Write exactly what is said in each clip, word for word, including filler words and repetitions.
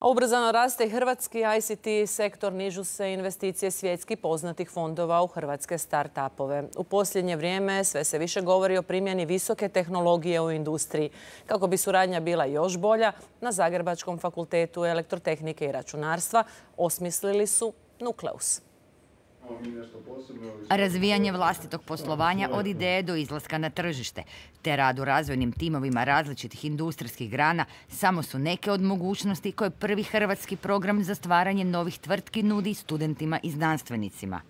Ubrzano raste i hrvatski I C T sektor, nižu se investicije svjetski poznatih fondova u hrvatske start-upove. U posljednje vrijeme sve se više govori o primjeni visoke tehnologije u industriji. Kako bi suradnja bila još bolja, na Zagrebačkom fakultetu elektrotehnike i računarstva osmislili su Nukleus. Razvijanje vlastitog poslovanja od ideje do izlaska na tržište, te rad u razvojnim timovima različitih industrijskih grana samo su neke od mogućnosti koje prvi hrvatski program za stvaranje novih tvrtki nudi studentima i znanstvenicima.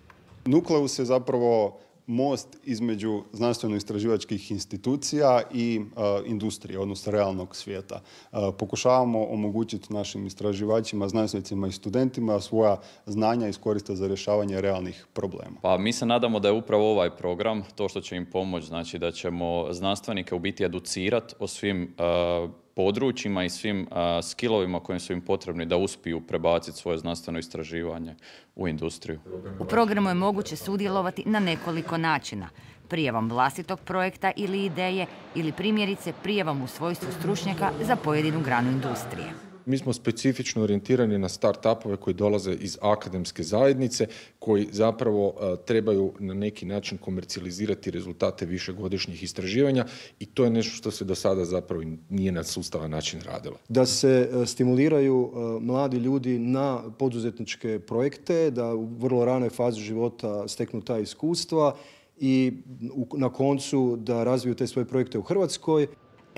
Nukleus je zapravo most između znanstveno-istraživačkih institucija i uh, industrije, odnosno realnog svijeta. Uh, pokušavamo omogućiti našim istraživačima, znanstvenicima i studentima svoja znanja iskoriste za rješavanje realnih problema. Pa mi se nadamo da je upravo ovaj program to što će im pomoći, znači da ćemo znanstvenike u biti educirati o svim uh, područjima i svim uh, skillovima kojim su im potrebni da uspiju prebaciti svoje znanstveno istraživanje u industriju. U programu je moguće sudjelovati na nekoliko načina. Prijavom vlastitog projekta ili ideje ili primjerice prijavom u svojstvu stručnjaka za pojedinu granu industrije. Mi smo specifično orijentirani na start-upove koji dolaze iz akademske zajednice, koji zapravo uh, trebaju na neki način komercijalizirati rezultate višegodišnjih istraživanja i to je nešto što se do sada zapravo nije na sustavan način radilo. Da se uh, stimuliraju uh, mladi ljudi na poduzetničke projekte, da u vrlo ranoj fazi života steknu ta iskustva i u, na koncu da razviju te svoje projekte u Hrvatskoj.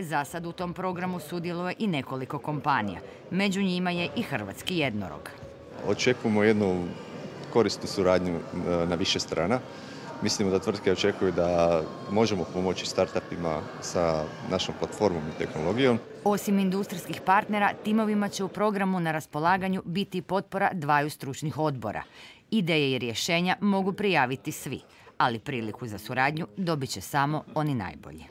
Za sad u tom programu sudjeluje i nekoliko kompanija. Među njima je i hrvatski jednorog. Očekujemo jednu korisnu suradnju na više strana. Mislimo da tvrtke očekuju da možemo pomoći startupima sa našom platformom i tehnologijom. Osim industrijskih partnera, timovima će u programu na raspolaganju biti potpora dvaju stručnih odbora. Ideje i rješenja mogu prijaviti svi, ali priliku za suradnju dobit će samo oni najbolji.